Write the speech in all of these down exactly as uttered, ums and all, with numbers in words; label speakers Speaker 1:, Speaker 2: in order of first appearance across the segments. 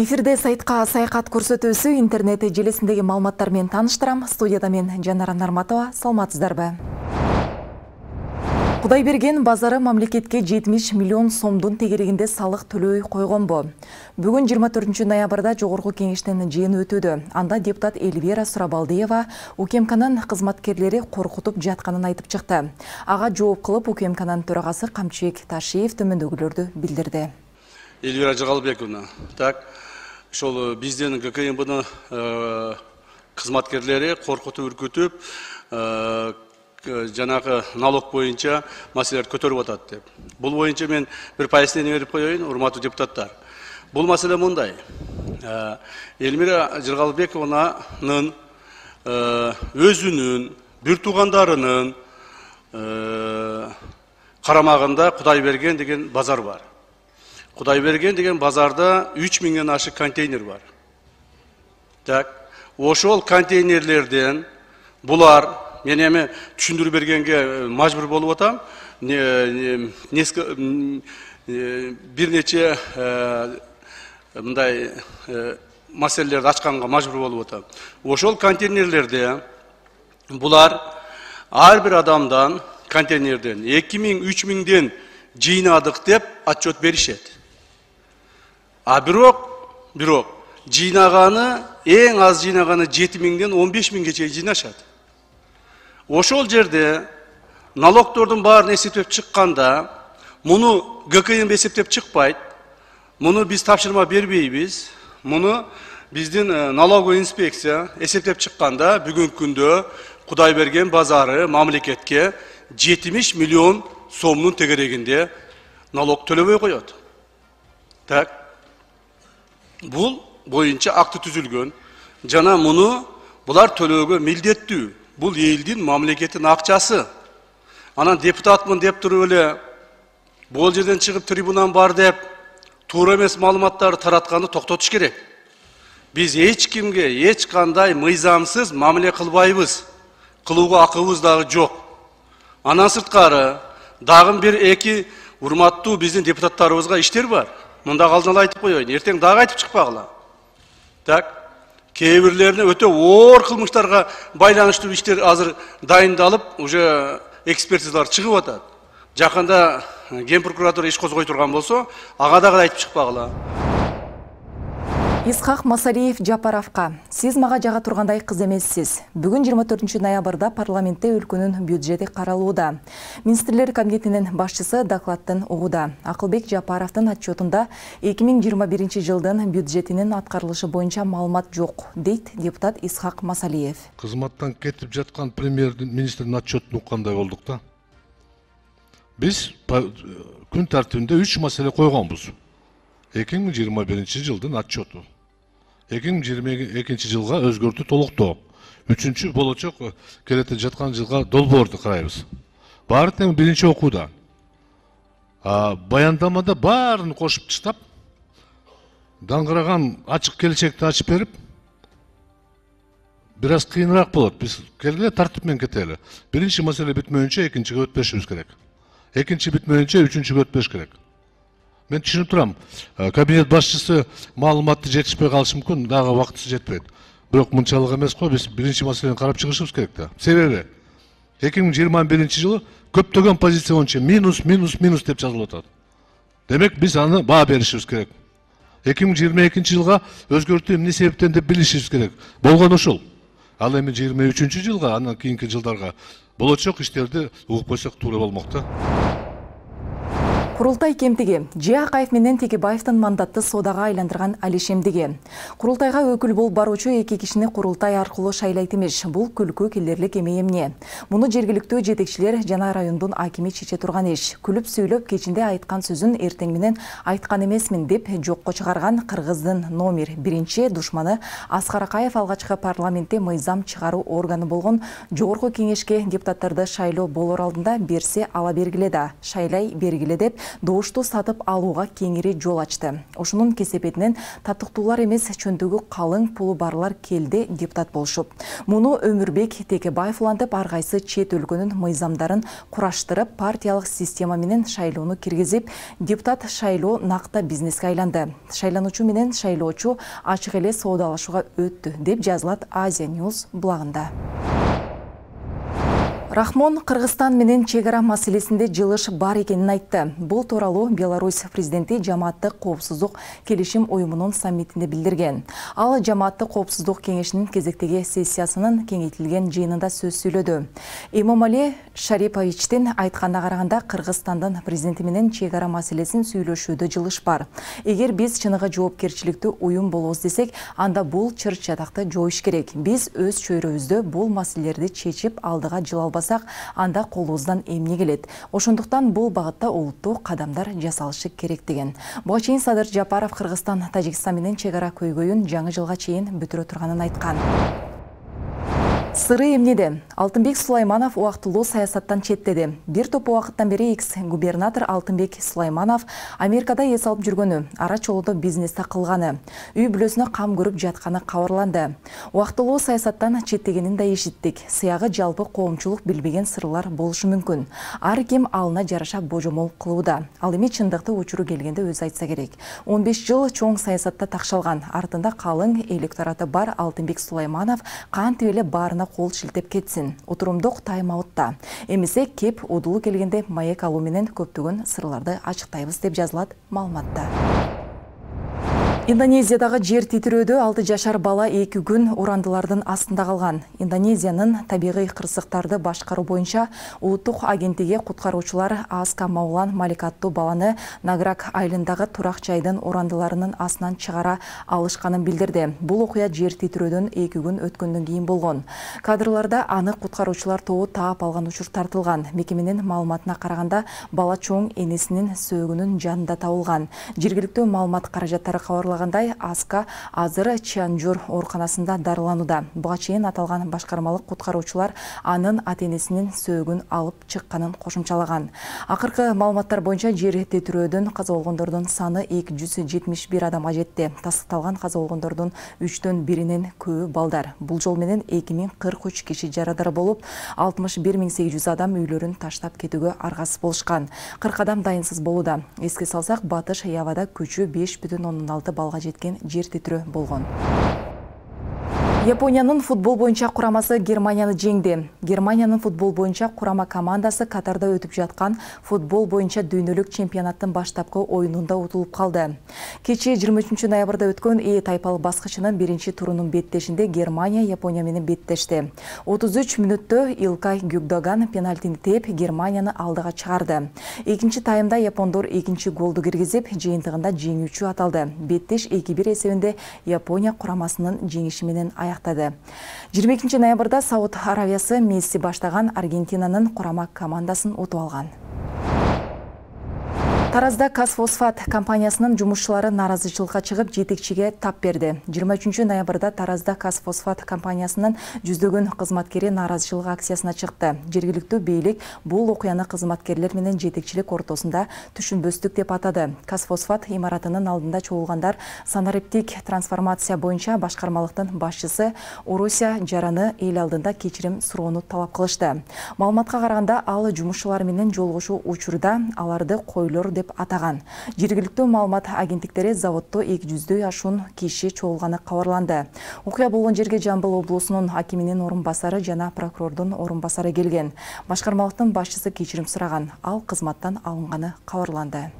Speaker 1: Эфирде сайтка саякат көрсөтүүсү интернет желесиндеги маалыматтар менен тааныштырам. Студияда мен Жанара Нарматова. Саламатсыздарбы? Кудайберген базары мамлекетке жетимиш миллион сомдун тегерегинде салык төлөй койгонбу? Бүгүн жыйырма төртүнчү ноябрда Жогорку кеңештин жыйыны өтүүдө. Анда депутат Эльвира Сурабалдиева УКМКнын кызматкерлери коркутуп жатканын айтып чыкты. Ага жооп кылып УКМКнын төрагасы Камчыбек Ташиев төмөндөгүлөрдү билдирди.
Speaker 2: Эльвира Жагалбековна, так, ошол биздин ГКМБнын кызматкерлери коркутуп үркүтүп, жанагы налог боюнча маселелерди көтөрүп атат деп. Бул боюнча мен бир пояснение берип коеюн, урматтуу депутаттар. Бул маселе мындай. Эльвира Жагалбековнанын өзүнүн, бир туугандарынын карамагында Кудайберген деген базар бар. Кудайберген деген базарда үч миңден ашык контейнер бар. Так, ошол контейнерлерден булар, мен эми түшүндүрүп бергенге мажбур болуп атам. Бир нече мындай маселелерди ачканга мажбур болуп атам. Ошол контейнерлерде булар ар бир адамдан контейнерден эки миң үч миңден жыйнадык деп отчет беришет. А бирок, бирок жыйнаганы, эң аз жыйнаганы жети миңден он беш миңге чейин жыйнашат. Ошол жерде налогтордун баарын эсептеп чыкканда, муну ГКМ эсептеп чыкпайт. Муну биз тапшырма бербейбиз. Муну биздин налоговый инспекция эсептеп чыкканда, бүгүнкү күндө Кудайберген базары мамлекетке жетимиш миллион сомдун тегерегинде налог төлөбөй коет. Так. Бул боюнча акты түзүлгөн. Жана муну булар төлөөгө милдеттүү. Бул элдин мамлекеттин акчасы. Анан депутатмын деп туруп эле бул жерден чыгып трибунан бар деп туура эмес маалыматтарды таратканды токтотуш керек. Биз эч кимге эч кандай мыйзамсыз мамиле кылбайбыз. Кылууга акыбыз дагы жок. Андан сырткары дагы бир эки урматтуу биздин депутаттарыбызга иштер бар. Мында алдын ала айтып коеюн, эртең дагы айтып чыкпагыла. Так, кээ бирлерине өтө оор кылмыштарга байланыштуу иштер азыр дайындалып, уже экспертизалар чыгып атат. Жакында Ген прокуратура иш козгой турган болсо, ага дагы айтып чыкпагыла.
Speaker 1: Исхак Масалиев Жапаровка. Сиз мага жага тургандай кыз эмессиз. Бүгүн жыйырма төртүнчү ноябрда парламентте өлкөнүн бюджети каралууда. Министрлер комитетинин башчысы докладтын угууда. Акылбек Жапаровдун отчетунда эки миң жыйырма биринчи жылдын бюджетинин аткарылышы боюнча маалымат жок, дейт депутат Исхак Масалиев.
Speaker 3: Кызматтан кетип жаткан премьер-министрдин отчетун уккандай болдук да. Биз күн тартибинде үч маселе койгонбуз. эки миң жыйырма биринчи жылдын отчету. эки миң жыйырма экинчи жылга өзгөртүү толуктоо. Үчүнчү болочок келете жаткан жылга долбоорду карайбыз. Баары тең биринчи окууда. Баяндамада баарын кошуп таштап, даңгыраган ачык келечекти ачып берип, бир аз кыйыныраак болот. Биз келгиле тартип менен кетели. Биринчи маселе бүтмөйүнчө экинчиге өтпөшүбүз керек. Экинчи бүтмөйүнчө үчүнчүгө өтпөш керек. Мен түшүнүп турам, кабинет башчысы маалыматты жетишпей калышы мүмкүн, дагы убактысы жетпейт. Бирок мынчалык эмес го, биз биринчи маселени карап чыгышыбыз керек да. Себеби эки миң жыйырма биринчи жылы көптөгөн позиция боюнча минус, минус, минус деп жазылып атат. Демек биз аны баа беришибиз керек. эки миң жыйырма экинчи жылга өзгөртүү эмне себептен деп билишибиз керек. Болгон ушул. Ал эми жыйырма үчүнчү жылга, андан кийинки жылдарга болочок иштерди угуп койсок туура болмок да.
Speaker 1: Курултай кемтиги Ж Акаев менен Текебаевдин мандатты соодага айландырган алишемдиги. Курултайга өкүл болуп баруучу эки кишини курултай аркылуу шайлайт эмес. Бул күлкү келерлик эме эмне? Муну жергиликтүү жетекчилер жана райондун акими чече турган иш. Күлүп сүйлөп кечинде айткан сөзүн эртең менен айткан эмесмин деп жокко чыгарган Кыргыздын номер биринчи душманы Аскар Акаев алгачкы парламентте мыйзам чыгаруу органы болгон Жогорку кеңешке депутаттарды шайлоо болор алдында берсе ала бергиле да, шайлай бергиле деп добушту сатып алууга кеңири жол ачты. Ошонун кесепетинен татыктуулар эмес, чөндүгү калың пулу барлар келди депутат болушуп. Муну Өмүрбек Текебаев улантып, ар кайсы чет өлкөнүн мыйзамдарын кураштырып, партиялык система менен шайлоону киргизип, депутат шайлоо накта бизнеске айланды. Шайлануучу менен шайлоочу ачык эле соодалашууга өттү, деп жазылат Азия News блогунда. Рахмон Кыргызстан менен чек ара маселесинде жылыш бар экенин айтты. Бул тууралуу Беларусь президенти Жамааттык коопсуздук келишим уюмунун саммитинде билдирген. Ал Жамааттык коопсуздук кеңешинин кезектеги сессиясынын кеңейтилген жыйынында сөз сүйлөдү. Эмомали Шариповичтин айтканына караганда, Кыргызстандын президенти менен чек ара маселесин сүйлөшүүдө жылыш бар. Эгер биз чыныгы жоопкерчиликтүү уюм болобуз десек, анда бул чыр-чатакты жоюш керек. Биз өз чөйрөбүздө бул маселелерди чечип алдыга жыла албасак, анда колубуздан эмне келет. Ошондуктан бул багытта улуттуу кадамдар жасалышы керек деген. Буга чейин Садыр Жапаров Кыргызстан Тажикстан менен чек ара көйгөйүн жаңы жылга чейин бүтүрө турганын айткан. Сыры эмнеде? Алтынбек Сулайманов убактылуу саясаттан четтеди. Бир топ убакыттан бери экс-губернатор Алтынбек Сулайманов Америкада эс алып жүргөнү, ара чолуудо бизнесте кылганы, үй бүлөсүнө кам көрүп жатканы кабарланды. Убактылуу саясаттан четтегенин да эшиттик. Сыягы жалпы коомчулук билбеген сырлар болушу мүмкүн. Ар ким алына жараша божомол кылууда. Ал эми чындыкты учуру келгенде өзү айтса керек. он беш жыл чоң саясатта такшалган, артында калың электораты бар Алтынбек Сулайманов кантип эле баарына кол шилтеп кетсин. Отурумдук тайм-аутта. Эмесе кеп удулу келгенде маек алуу менен көптөгөн сырларды ачыктайбыз, деп жазылат маалыматта. Индонезиядагы жер титирөөдө алты жашар бала эки күн урандылардын астында калган. Индонезиянын табигый кырсыктарды башкаруу боюнча улуттук агенттиги куткаруучулар Аска Маулан Малик аттуу баланы Награк айылындагы турак жайдын урандыларынын астынан чыгара алышканын билдирди. Бул окуя жер титирөөдөн эки күн өткөндөн кийин болгон. Кадрларда аны куткаруучулар тобу таап алган учур тартылган. Мекеменин маалыматына караганда, бала чоң энесинин сөөгүнүн жанында табылган. Жергиликтүү маалымат каражаттары кабарлагандай, Аска азыр Чанжур ооруканасында дарыланууда. Буга чейин аталган башкармалык куткаруучулар анын ата-энесинин сөөгүн алып чыкканын кошумчалаган. Акыркы маалыматтар боюнча жер титирөөдөн каза болгондордун саны эки жүз жетимиш бир адамга жетти. Тастыкталган каза болгондордун үчтөн биринин көбү балдар. Бул жол менен эки миң кырк үч киши жарадар болуп, алтымыш бир миң сегиз жүз адам үйлөрүн таштап кетүүгө аргасыз болушкан. кырк адам дайынсыз болууда. Эске салсак, Батыш Явада күчү беш бүтүн ондон алты балга жеткен жер титирөө болгон. Япониянын футбол боюнча курамасы Германияны жеңди. Германиянын футбол боюнча курама командасы Катарда өтүп жаткан футбол боюнча дүйнөлүк чемпионаттын баштапкы оюнунда утулуп калды. Кечээ жыйырма үчүнчү ноябрда өткөн Э тайпалык баскычынын биринчи турунун беттешинде Германия Япония менен беттешти. отуз үч мүнөттө Илкай Гюгдоган пенальтини тээп Германияны алдыга чыгарды. Экинчи таймда япондор экинчи голду киргизип, жыйынтыгында жеңүүчү аталды. Беттеш эки бир эсебинде Япония курамасынын жеңиши менен аяктады. жыйырма экинчи ноябрда Сауд Аравиясы Месси баштаган Аргентинанын курама командасын утуп алган. Таразда Казфосфат компаниясынын жумушчулары нааразычылыкка чыгып, жетекчиге тап берди. жыйырма үчүнчү ноябрда Таразда Казфосфат компаниясынын жүздөгөн кызматкери нааразычылык акциясына чыкты. Жергиликтүү бийлик бул окуяны кызматкерлер менен жетекчилик ортосунда түшүнбөстүк деп атады. Казфосфат имаратынын алдында чогулгандар санариптик трансформация боюнча башкармалыктын башчысы Уруся Жараны эл алдында кечирим суроону талап кылышты. Маалыматка караганда, ал жумушчулар менен жолугушуу учурда аларды койлор деп атаган. Жергиликтүү маалымат агенттиктери заводдо эки жүздөй ашуун киши чогулганы кабарланды. Окуя болгон жерге Жамбыл облусунун акиминин орун басары жана прокурордун орун басары келген. Башкармалыктын башчысы кечирим сураган. Ал кызматтан алынганы кабарланды.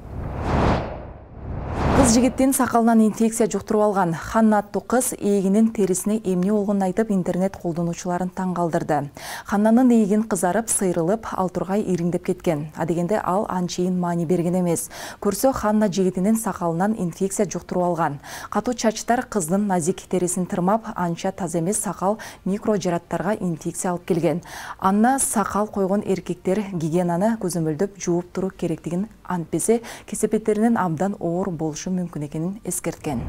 Speaker 1: Кыз жигиттин сакалынан инфекция жуктуруп алган. Ханна аттуу кыз эгинин терисине эмне болгонун айтып, интернет колдонуучуларын таң калтырды. Ханнанын эгин кызарып, сыйрылып, ал тургай ириңдеп кеткен. Адегенде ал анчейин маани берген эмес. Көрсө, Ханна жигитинин сакалынан инфекция жуктуруп алган. Катуу чачтар кыздын назик терисин тырмап, анча таза эмес сакал микро жараттарга инфекция алып келген. Анна сакал койгон эркектер гигиенаны көзөмөлдөп жууп туруу керектигин, антпесе кесепеттеринин абдан оор болушу мүмкүн экенин эскерткен.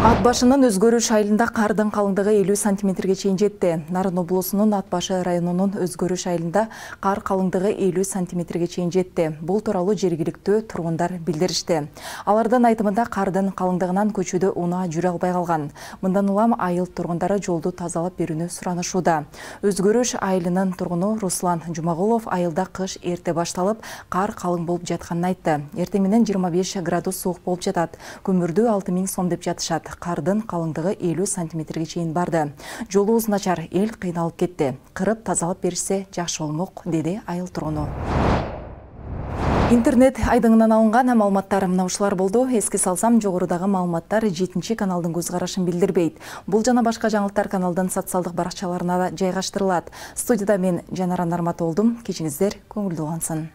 Speaker 1: Ат башынын өзгөрүш айылында кардын калыңдыгы элүү сантиметрге чейин жетти. Нарын облусунун Ат башы районунун өзгөрүш айылында кар калыңдыгы элүү сантиметрге чейин жетти. Бул тууралуу жергиликтүү тургундар билдиришти. Алардын айтымында кардын калыңдыгынан көчөдө унаа жүрө албай калган. Мындан улам айыл тургундары жолду тазалап берүүнү суранышууда. Өзгөрүш айылынын тургуну Руслан Жумагулов айылда кыш эрте башталып, кар калың болуп жатканын айтты. Эртең менен жыйырма беш градус суук болуп жатат. Көмүрдү алты миң сом деп жатышат. Кардын калыңдыгы элүү сантиметрге чейин барды. Жолубуз начар, эл кыйналып кетти. Кырып тазалап беришсе жакшы болмок, деди айыл тургуну. Интернет айдыңынан алынган маалыматтар мына ушулар болду. Эске салсам, жогорудагы маалыматтар жетинчи каналдын көз карашын билдирбейт. Бул жана башка жаңылыктар каналдын социалдык баракчаларына да жайгаштырылат. Студияда мен Жанара Нарматов болдум. Кечиңиздер көңүлдүү улансын.